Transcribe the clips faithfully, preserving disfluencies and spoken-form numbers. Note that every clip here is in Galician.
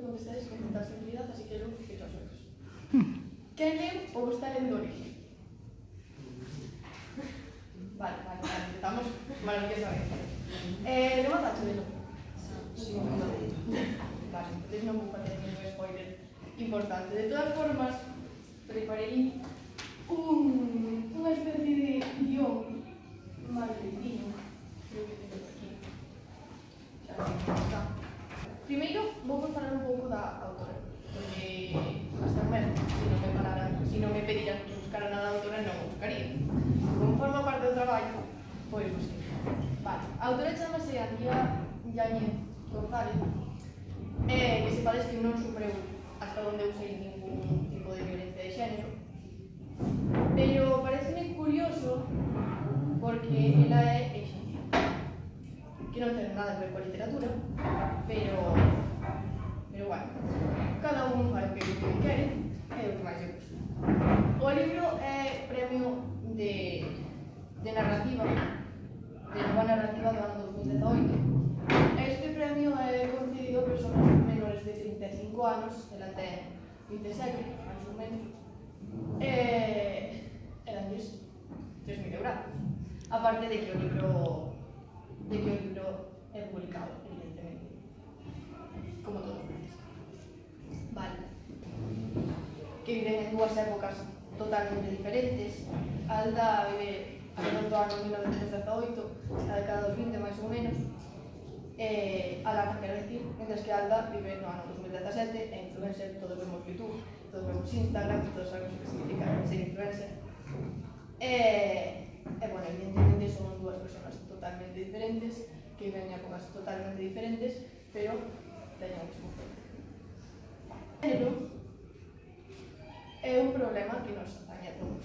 Contestáis con total seguridad, así que luego fijo os ojos. Quen leu ou está lendo origen? Vale, vale, vale, empezamos maravillosamente. Eh, non matacho de loco? Sí, non matacho. Vale, entonces non vou facer ningún spoiler importante. De todas formas, preparei un, unha especie de guión malditino. Creo que tengo aquí. Xa sei como está. Primeiro, vou falar un pouco da autora, porque hasta o mesmo, se non me pararan, se non me pediran que buscara nada da autora, non o buscaría. Como forma parte do traballo, pois busquei. Vale, a autora chamase Antía Yáñez González, eh, que sepades que non sufreu hasta onde usei ningún tipo de violencia de xénero, pero pareceme curioso porque ela é exención, que non ten nada que ver coa literatura, pero, pero bueno, cada un fai o que quere, é o que máis lle gusta. O libro é premio de, de narrativa, de nova narrativa do ano dos mil dezaoito. Este premio é concedido a persoas menores de trinta e cinco anos, ela ten vinte e sete, máis ou menos, e, e danlles tres mil euros. Aparte de que o libro, de que o libro é publicado, evidentemente, como todo. Vale. Que viven en dúas épocas totalmente diferentes. Alda vive alrededor do ano mil novecentos dezaoito, a década dos vinte, máis ou menos. Eh, Alana, quero dicir, mentres que Alda vive no ano dos mil dezasete, é influencer, todos vemos YouTube, todos vemos Instagram, todos sabemos o que significa ser influencer. Eh, e, bueno, evidentemente son dúas persoas totalmente diferentes, que viven en épocas totalmente diferentes, pero teñen o mesmo problema. Pero é un problema que nos atañe a todos,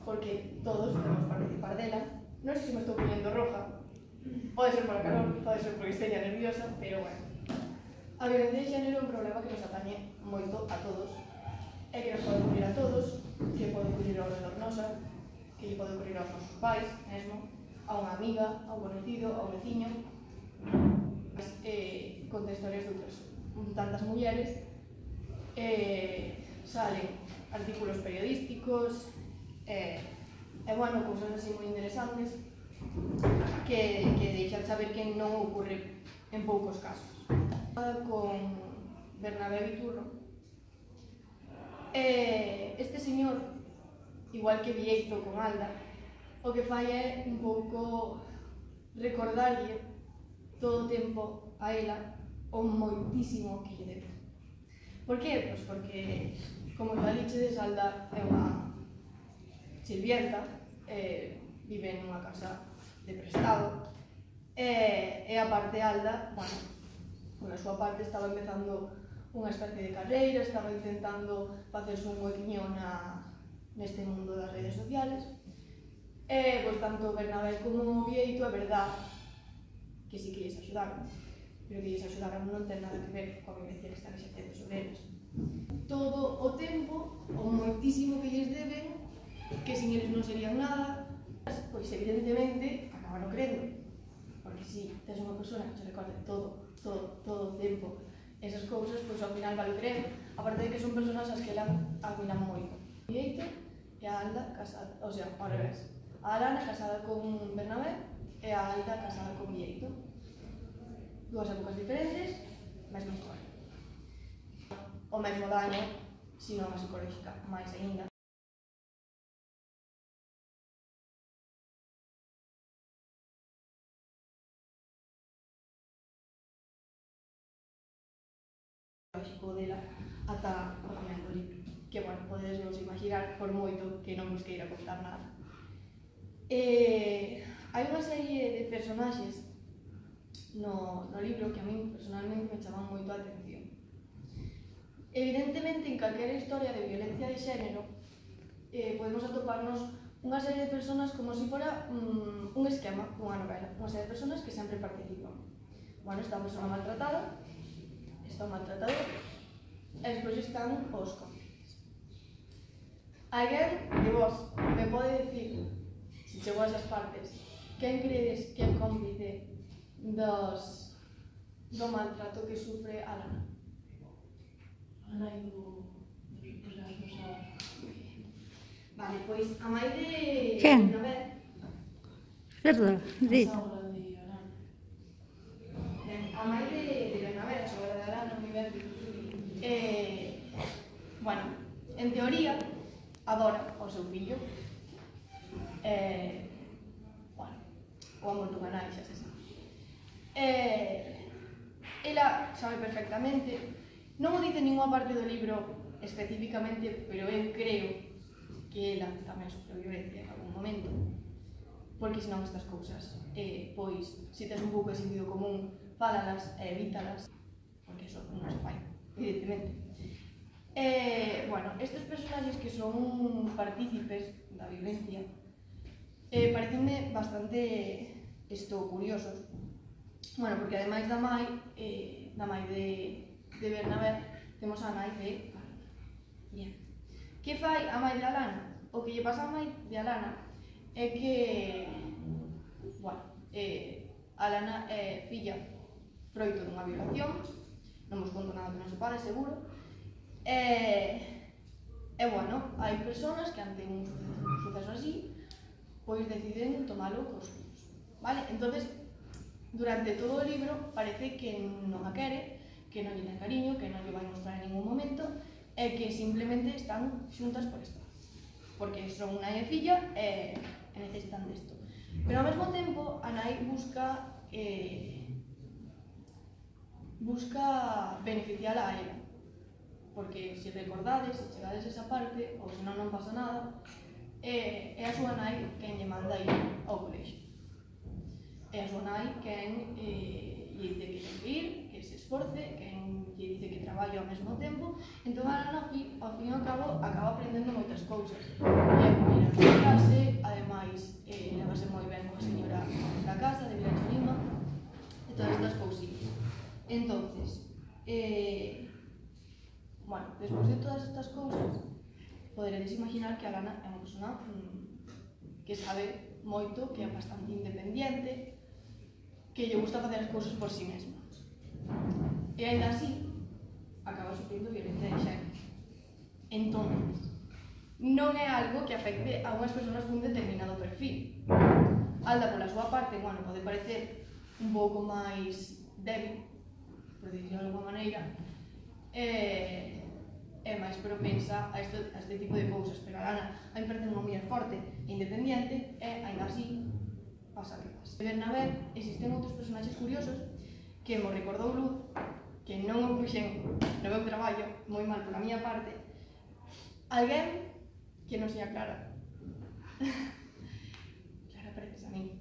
porque todos podemos participar dela. Non sei se me estou poniendo roja, pode ser por a calor, pode ser porque esteña nerviosa, pero bueno. A violencia de xénero é un problema que nos atañe moito a todos, e que nos pode ocurrir a todos, que pode ocurrir ao redor nosa, que lle pode ocurrir aos nosos pais, mesmo, a unha amiga, a un conocido, a un veciño, eh, conta historias de outras tantas mulleres, eh, salen artículos periodísticos, eh, e, bueno, cousas así moi interesantes que, que deixan saber que non ocorre en poucos casos. Con Bernabé Viturro, eh, este señor, igual que Vieito con Alda, o que fai é un pouco recordarlle todo o tempo a ela o moitísimo que lle debe. Por que? Pois porque, como xa dichedes, Alda é unha sirvienta, eh, vive nunha casa de prestado, e, e a parte Alda, bueno, por a súa parte estaba empezando unha especie de carreira, estaba intentando facerse un huequiño na, neste mundo das redes sociales, e, pois, tanto Bernabé como Vieito, é verdad que sí que lles axudaron, pero que lles axudaron non ten nada que ver coa violencia que están exercendo sobre eles. Todo o tempo, o moitísimo que lles deben, que sin eles non serían nada, pois evidentemente acaban crendo, porque si tes unha persona que se recorde todo, todo, todo o tempo esas cousas, pois ao final vale creer, aparte de que son personas as que elan admiran moito. Vieito e a Alda casada, o sea, ao revés, a Arana casada con Bernabé e a Alda casada con Vieito. Dúas épocas diferentes, mesma historia. O mesmo daño, se non a psicolóxica, máis aínda. Psicolóxico dela ata o final do libro, que, bueno, podedes vos imaginar por moito que non vos queira contar nada. Eh, hai unha serie de personaxes no, no libro que a min personalmente me chaman moito a atención. Evidentemente, en calquera historia de violencia de xénero eh, podemos atoparnos unha serie de personas como se fora um, un esquema dunha novela, unha serie de personas que sempre participan. Bueno, está a persona maltratada, está o maltratador, e despois están os cómplices. Alguén de vos me pode dicir, se chegou a esas partes, quen credes que é cómplice dos, do maltrato que sufre Alana? nai do Erasmus a... Vale, pois a mãe de... Quen? Bernabé, Verdad, di. A sogra de Arana. ben, a mãe de, de Bernabé, a sogra de Arana, mi ben, eh, bueno, en teoría, adora ao seu fillo. Eh, bueno, o amor do canal, xa se sabe. Eh, ela sabe perfectamente, non o dice ninguna parte do libro especificamente, pero eu creo que ela tamén sofreu violencia en algún momento, porque senón estas cousas, eh, pois, se tes un pouco de sentido común, fálalas e evítalas, porque eso non se fai, evidentemente. Eh, bueno, estes personaxes que son partícipes da violencia eh, parecenme bastante isto curiosos. Bueno, porque ademais da mai, eh, da mai de, de Bernabé, temos a nai de Alana. Bien. Que fai a mai de Alana? O que lle pasa a mai de Alana é que, bueno, eh, Alana é filla froito dunha violación, non vos conto nada que non se pare, seguro. E, e bueno, hai persoas que ante un suceso así, pois deciden tomalo cos fillos, vale? Entonces, durante todo o libro parece que non a quere, que non lle ten cariño, que non lle vai mostrar en ningún momento, e que simplemente están xuntas por estar, porque son nai e filla e, e necesitan desto. Pero ao mesmo tempo, a nai busca eh, busca beneficiar a ela, porque se recordades, se chegades esa parte, ou se non non pasa nada, é, é a súa nai quen lle manda ir ao colexio. É a súa nai quen eh, lle dice que ten que ir, que se esforce, quen lle dice que traballe ao mesmo tempo. Entón, a Ana, ao fin e ao cabo, acaba aprendendo moitas cousas. E ir a súa clase, ademais, eh, levase moi ben coa señora da casa, de Vilacho Lima, e todas estas cousillas. Entonces, eh, bueno, despois de todas estas cousas, poderedes imaginar que a Lana é unha persona mmm, que sabe moito, que é bastante independiente, que lle gusta facer as cousas por si mesma. E ainda así, acaba sufrindo violencia de xénero. Entón, non é algo que afecte a unhas persoas cun determinado perfil. Alda, pola súa parte, bueno, pode parecer un pouco máis débil, por dicirlo de alguma maneira, e, e máis propensa a este, a este tipo de cousas. Pero a Lana a mí parece unha muller forte e independente, e ainda así pasa que pasa. De Bernabé existen outros personaxes curiosos que mo recordou Luz, que non o puxen no meu traballo, moi mal pola miña parte. Alguén que non sea Clara. Clara pareces a mí.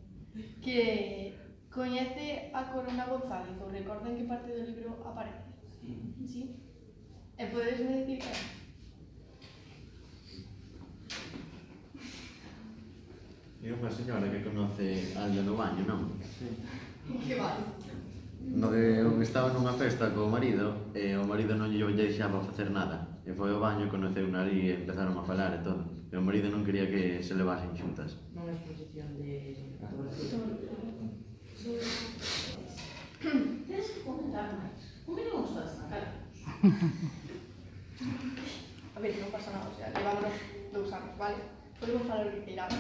Que coñece a Corona González, ou recorda en que parte do libro aparece? Sí. Sí? E podesme dicir que é? É unha señora que conoce Alda no baño, non? Sí. Que vale? No que estaba nunha festa co marido e o marido non lle deixaba facer nada. E foi ao baño, conoceu na ali e empezaron a falar e todo. E o marido non quería que se levasen xuntas. Non é exposición de fotografía. Tens que comentar máis. Como que non gostas na cara? A ver, non pasa nada, o sea, levámonos dous anos, vale? Podemos falar o que queiramos.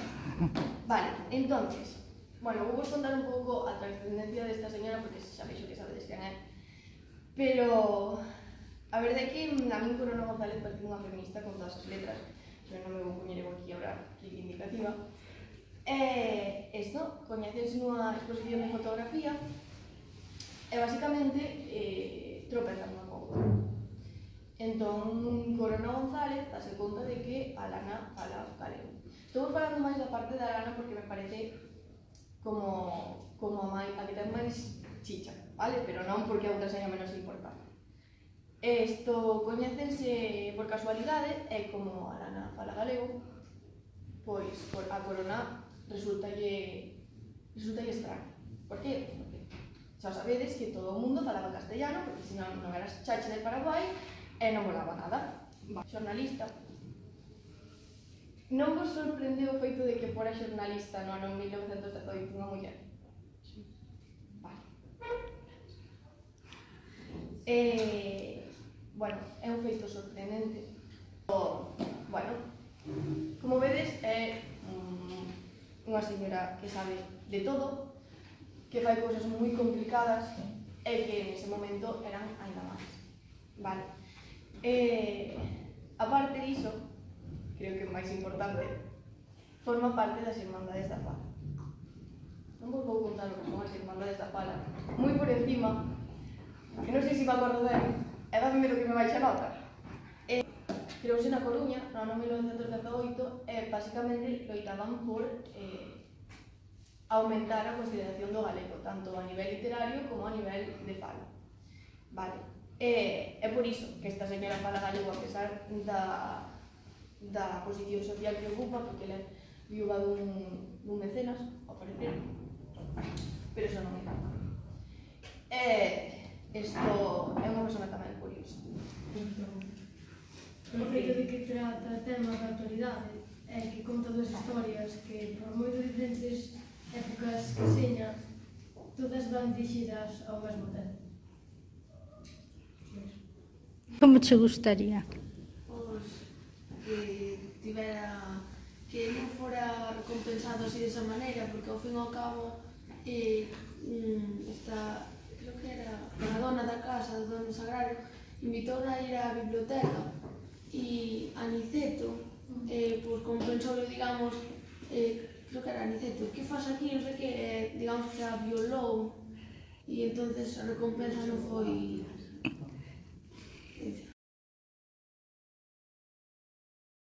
Vale, entonces, bueno, vou vos contar un pouco a trascendencia desta señora, porque xa veixo que sabedes quen é. Pero a verdade é que a min Corona González parece unha feminista con todas as letras, pero non me vou poñer aquí a hablar reivindicativa. E isto, coñeces nunha exposición de fotografía e basicamente eh, tropezan unha cousa. Entón, Corona González dase conta de que a Lana fala galego. Estou falando máis da parte da Lana porque me parece como, como a, mai, a que ten máis chicha, vale? Pero non porque a outra seña menos importante. Isto coñécense por casualidade e como a Lana fala galego, pois a Corona resultalle, resultalle extraño. Por que? Porque xa sabedes que todo o mundo falaba castellano, porque senón non eras chache del Paraguai e non volaba nada. Va, xornalista. Non vos sorprendeu o feito de que fora xornalista no ano mil novecentos e dezoito unha muller? Sí. Vale. Eh, bueno, é un feito sorprendente. O, bueno, como vedes, é um, unha señora que sabe de todo, que fai cousas moi complicadas e que nese momento eran aínda máis. Vale. Eh, aparte diso, creo que o máis importante, forma parte das Irmandades da Fala. Non vos vou contar o que son as Irmandades da Fala, moi por encima, que non sei se me acordo ben, e dame medo que me baixe a nota. Eh, creouse na Coruña, no ano mil novecentos dezaoito, e basicamente loitaban por eh, aumentar a consideración do galego, tanto a nivel literario como a nivel de fala. Vale. E é por iso que esta señora fala galego a pesar da, da posición social que ocupa, porque ela é viúva dun, dun mecenas, ao parecer, pero eso non é nada. E isto é unha persona tamén curiosa. O feito de que trata temas da actualidade é que conta dúas historias que, por moi diferentes épocas que seña, todas van dirixidas ao mesmo tempo. Como te gustaría? Pois que tivera, que non fora recompensado así desa maneira, porque ao fin e ao cabo eh, mm, esta, creo que era a dona da casa, do dono sagrario, invitou a ir á biblioteca e Aniceto, eh, pois compensou, digamos, eh, creo que era Aniceto, que faz aquí, non sei que, eh, digamos que a violou, e entonces a recompensa non foi